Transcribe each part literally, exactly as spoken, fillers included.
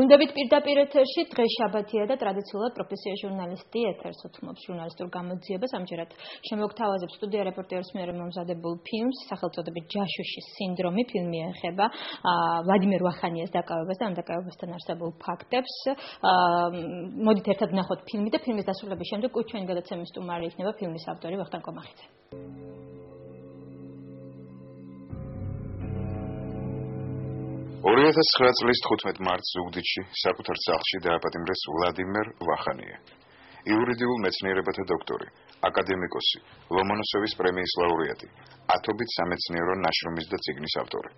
გუნდებით პირდაპირ ეთერში დღეს შაბათია და ტრადიციულად პროფესია ჟურნალისტი ეთერს უთმობს ჟურნალისტურ გამოძიებას. ამჯერად შემოგთავაზებს სტუდია რეპორტერის მიერ მომზადებულ ფილმს სახელწოდებით ჯაშუშის სინდრომი. ფილმი ეხება ვლადიმერ ვახანიას დაკავებას და ამ დაკავებასთან არსებულ ფაქტებს. მოდით ერთად ვნახოთ ფილმი და ფილმის დასრულების შემდეგ ჩვენი გადაცემის სტუმარი იქნება ფილმის ავტორი ვახტანგ კომახიძე. ორი ათას ცხრა წლის თხუთმეტ მარტს ზუგდიდში საკუთარ სახლში დააპატიმრეს ვლადიმერ ვახანია. იურიდიულ მეცნიერებათა დოქტორი, აკადემიკოსი, ლომონოსოვის პრემიის ლაურეატი, ათობით სამეცნიერო ნაშრომის და წიგნის ავტორი.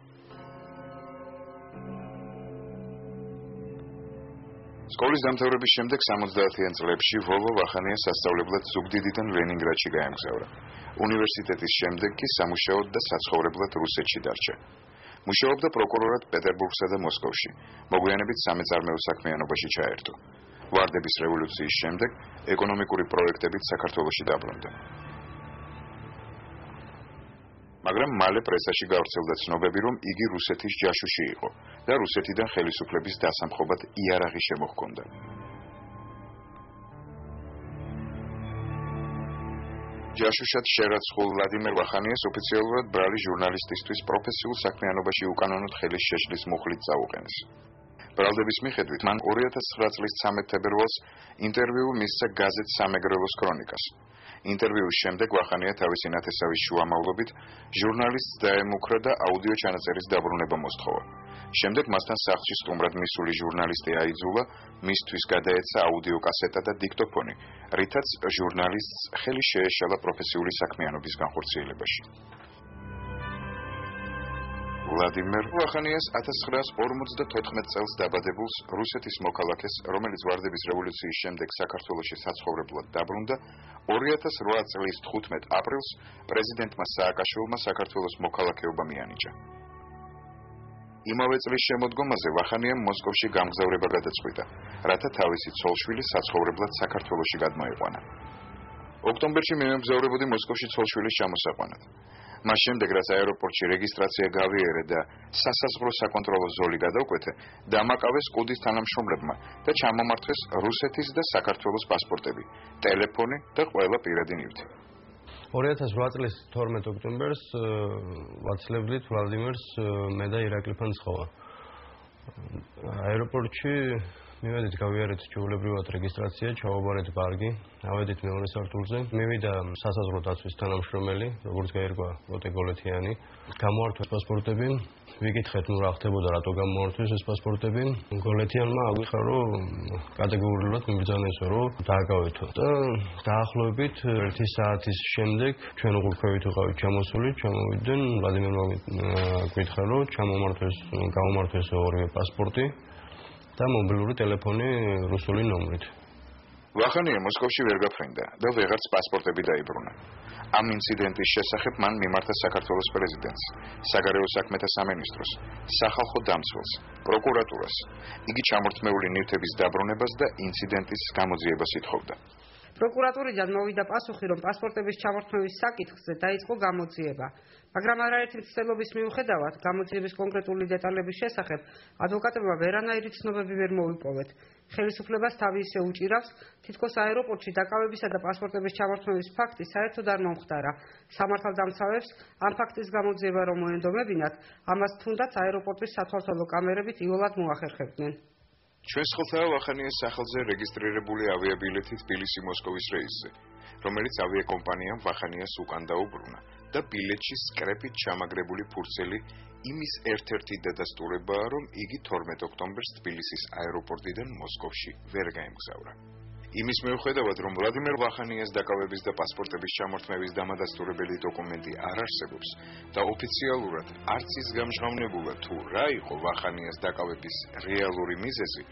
სკოლის დამთავრების შემდეგ სამოცდაათიან წლებში ვოლო ვახანია სასწავლებლად ზუგდიდიდან ლენინგრადში გაემგზავრა. უნივერსიტეტის შემდეგ კი სამუშაოდ და საცხოვრებლად რუსეთში დარჩა. მუშაობდა პროკურორად პეტერბურგსა და მოსკოვში. მოგვიანებით სამეწარმეო საქმიანობაში ჩაერთო. ვარდების რევოლუციის შემდეგ ეკონომიკური პროექტებით საქართველოში დაბრუნდა. მაგრამ მალე პრესაში გავრცელდა ცნობები, რომ იგი რუსეთის ჯაშუში იყო და რუსეთიდან ხელისუფლების დასამხობად იარაღი შემოჰქონდა. ჯაშუშად შერაცხულ ვლადიმერ ვახანიას ოფიციალურად ბრალი ჟურნალისტისთვის პროფესიულ საქმიანობაში უკანონოდ ხელის შეშლის მუხლით წაუყენეს. ბრალდების მიხედვით მან ორი ათას ცხრა წლის ცამეტ თებერვალს ინტერვიუ მისცა გაზეთ სამეგრელოს ქრონიკას. ინტერვიუს შემდეგ ვახანია თავისი ნათესავის შუამავლობით ჟურნალისტს დაემუქრა და აუდიო ჩანაწერის დაბრუნება მოსთხოვა. შემდეგ მასთან სახლში სტუმრად მისული ჟურნალისტი აიძულა, მისთვის გადაეცა აუდიო კასეტა და დიქტოფონი, რითაც ჟურნალისტს ხელი შეეშალა პროფესიული საქმიანობის განხორციელებაში. ვლადიმერ ვახანიას ათას ცხრაას ორმოცდათოთხმეტ წელს დაბადებულს რუსეთის მოქალაქეს, რომელიც ვარდების რევოლუციის შემდეგ საქართველოში საცხოვრებლად დაბრუნდა, ორი ათას რვა წლის თხუთმეტ აპრილს პრეზიდენტმა სააკაშვილმა საქართველოს მოქალაქეობა მიანიჭა. იმავე წლის შემოდგომაზე ვახანიამ მოსკოვში გამგზავრება გადაწყვიტა, რათა თავისი ცოლშვილი საცხოვრებლად საქართველოში გადმოეყვანა. ოქტომბერში მიემგზავრებოდი მოსკოვში ცოლშვილის ჩამოსაყვანად. მას შემდეგ, რაც აეროპორტში რეგისტრაცია გავიარე და სასაზღვრო საკონტროლო ზოლი გადავკვეთე, დამაკავეს კუდის თანამშრომლებმა და ჩამომართვეს რუსეთის და საქართველოს პასპორტები, ტელეფონი და ყველა პირადი ნივთი. ორი ათას რვა წლის თორმეტ ოქტომბერს ვაცლებლით ვლადიმერს მე და ირაკლი ფანცხოვა. აეროპორტში მივედით გავიარეთ ჩვეულებრივად რეგისტრაცია, ჩავაბარეთ ბარგი, ავედით მეორე სართულზე. მივიდა სასაზღვრო დაცვის თანამშრომელი, როგორც გაირკვა ლოტე გოლეთიანი. გამოართვეს პასპორტები, ვიკითხეთ, ნუ რა ხდებოდა, რატო გამოართვეს ეს პასპორტები. გოლეთიანმა აღვიხარა, რომ კატეგორიულად მიბრძანესო, რომ დააკავეთო. და დაახლოებით ერთი საათის შემდეგ ჩვენ უყურ ქვევით ვიყავით ჩამოსული, ჩამოვიდნენ, ვლადიმერმა გვითხრა, რომ ჩამომართვეს, გამომართვეს ორივე პასპორტი. და მობილური ტელეფონი რუსული ნომრით. ვახანია მოსკოვში ვერ გაფრინდა და ვეღარც პასპორტები დაიბრუნა. ამ ინციდენტის შესახებ მან მიმართა საქართველოს პრეზიდენტს, საგარეო საქმეთა სამინისტროს, სახალხო დამცველს, პროკურატურას. იგი ჩამორთმეული ნივთების დაბრუნებას და ინციდენტის გამოძიებას ითხოვდა. პროკურატურიდან მოვიდა პასუხი, რომ პასპორტების ჩამორთმევის საკითხზე დაიწყო გამოძიება. მაგრამ არაერთი მცდელობის მიუხედავად, გამოძიების კონკრეტული დეტალების შესახებ ადვოკატებმა ვერანაირი ცნობები ვერ მოიპოვეთ. ხელისუფლებას თავი ისე უჭირავს, თითქოს აეროპორტში დაკავებისა და პასპორტების ჩამორთმევის ფაქტი საერთოდ არ მომხდარა. სამართალდამცავებს ამ ფაქტის გამოძიება რომ მოენდომებინათ, ამას თუნდაც აეროპორტის სათვალთვალო კამერებით იოლად მოახერხებდნენ. ჩვენს ხელთაა ვახანიას სახელზე რეგისტრირებული ავიაბილეთი თბილისი-მოსკოვის რეისზე, რომელიც ავიაკომპანიამ ვახანიას უკან დაუბრუნა და ბილეთში სკრეპით ჩამაგრებული ფურცელი იმის ერთ-ერთი დადასტურებაა, რომ იგი თორმეტ ოქტომბერს თბილისის აეროპორტიდან მოსკოვში ვერ გაემგზავრა. იმის მიუხედავად, რომ ვლადიმერ ვახანიას დაკავების და პასპორტების ჩამორთმევის დამადასტურებელი დოკუმენტი არ არსებობს და ოფიციალურად არც ის გამჟღავნებულა თუ რა იყო ვახანიას დაკავების რეალური მიზეზი,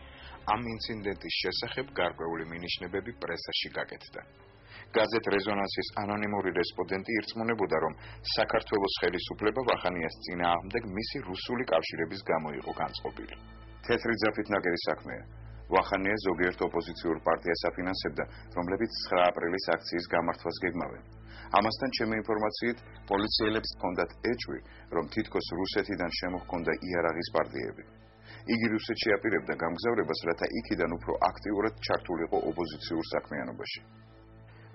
ამ ინციდენტის შესახებ გარკვეული მინიშნებები პრესაში გაკეთდა. გაზეთ რეზონანსის ანონიმური რესპონდენტი ირწმუნებოდა, რომ საქართველოს ხელისუფლება ვახანიას წინააღმდეგ მისი რუსული კავშირების გამო იყო განწყობილი. თეთრი ძაფით ნაკერი საქმეა. ვახანია ზოგიერთ ოპოზიციურ პარტიას აფინანსებდა, რომლებიც ცხრა აპრილის აქციის გამართვას გეგმავენ. ამასთან ჩემი ინფორმაციით, პოლიციელებს ჰქონდათ ეჭვი, რომ თითქოს რუსეთიდან შემოჰქონდა იარაღის პარტიები. იგი რუსეთში აპირებდა გამგზავრებას, რათა იქიდან უფრო აქტიურად ჩართულიყო ოპოზიციურ საქმიანობაში.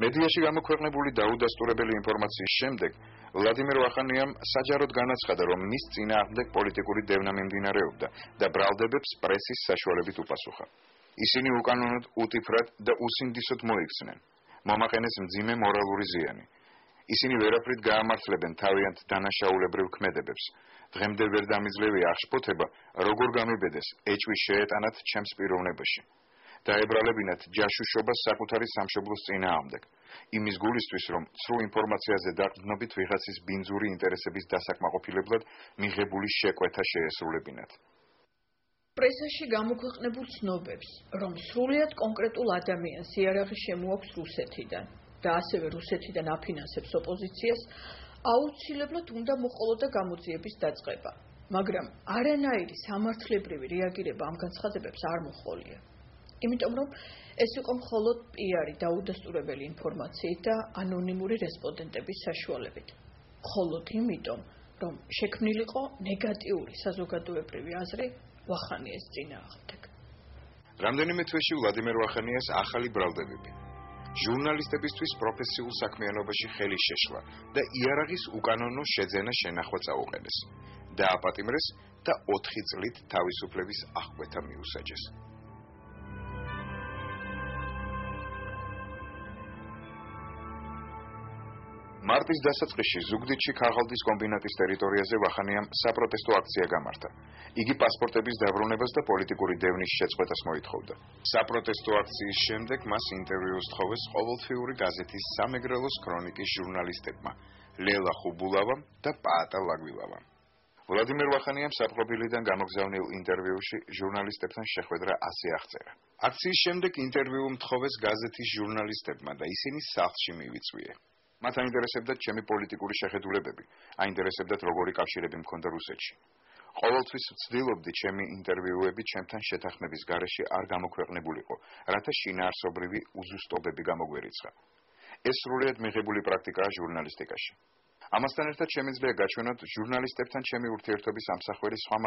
მედიაში გამოქვეყნებული დაუდასტურებელი ინფორმაციის შემდეგ ვლადიმერ ვახანიამ საჯაროდ განაცხადა, რომ მის წინააღმდეგ პოლიტიკური დევნა მიმდინარეობდა და ბრალდებებს პრესის საშუალებით უპასუხა. ისინი უკანონოდ, უტიფრად და უსინდისოდ მოიქცნენ. მომაყენეს მძიმე მორალური ზიანი. ისინი ვერაფრით გაამართლებენ თავიანთ დანაშაულებრივ ქმედებებს. დღემდე ვერ დამიძლევია აღშფოთება, როგორ გამიბედეს ეჭვი შეეტანათ ჩემს პიროვნებაში. დაებრალებინათ ჯაშუშობას საკუთარი სამშობლოს წინააღმდეგ. იმის გულისთვის, რომ ცრუ ინფორმაციაზე დაყრდნობით ვიღაცის ბინძური ინტერესების დასაკმაყოფილებლად მიღებული შეკვეთა შეესრულებინათ. პრესაში გამოქვეყნებულ ცნობებს, რომ სრულიად კონკრეტულ ადამიანს იარაღი შემოაქვს რუსეთიდან და ასევე რუსეთიდან აფინანსებს ოპოზიციას, აუცილებლად უნდა მოყოლოდა გამოძიების დაწყება, მაგრამ არანაირი სამართლებრივი რეაგირება ამ განცხადებებს არ მოჰყოლია. იმიტომ რომ ეს იყო მხოლოდ პიარი დაუდასტურებელი ინფორმაციით და ანონიმური რესპონდენტების საშუალებით. მხოლოდ იმიტომ, რომ შექმნილიყო ნეგატიური საზოგადოებრივი აზრი ვახანიეს წინააღმდეგ. რამდენიმე თვეში ვლადიმერ ვახანიას ახალი ბრალდებები. ჟურნალისტებისთვის პროფესიულ საქმიანობაში ხელი შეშლა და იარაღის უკანონო შეძენა შენახვა წაუყენეს. დააპატიმრეს და ოთხი წლით თავისუფლების აღკვეთა მიუსაჯეს. მარტის დასაწყისში ზუგდიდში ქაღალდის კომბინატის ტერიტორიაზე ვახანიამ საპროტესტო აქცია გამართა. იგი პასპორტების დაბრუნებას და პოლიტიკური დევნის შეწყვეტას მოითხოვდა. საპროტესტო აქციის შემდეგ მას ინტერვიუ სთხოვეს ყოველთვიური გაზეთის სამეგრელოს ქრონიკის ჟურნალისტებმა ლელა ხუბულავამ და პაატა ლაგვილავამ. ვლადიმერ ვახანიამ საპროფილიდან გამოგზავნილ ინტერვიუში ჟურნალისტებთან შეხვედრა ასე აღწერა. აქციის შემდეგ ინტერვიუ მთხოვეს გაზეთის ჟურნალისტებმა და ისინი სახლში მივიწვიე. მათ აინტერესებდათ ჩემი პოლიტიკური შეხედულებები, აინტერესებდათ როგორი კავშირები მქონდა რუსეთში. ყოველთვის ვცდილობდი ჩემი ინტერვიუები ჩემთან შეთანხმების გარეშე არ გამოქვეყნებულიყო, რათა შინაარსობრივი უზუსტობები გამოგვერიცხა. ეს სრულიად მიღებული პრაქტიკაა ჟურნალისტიკაში. ამასთან ერთად შემიძლია გაჩვენოთ ჟურნალისტებთან ჩემი ურთიერთობის ამსახველი სხვა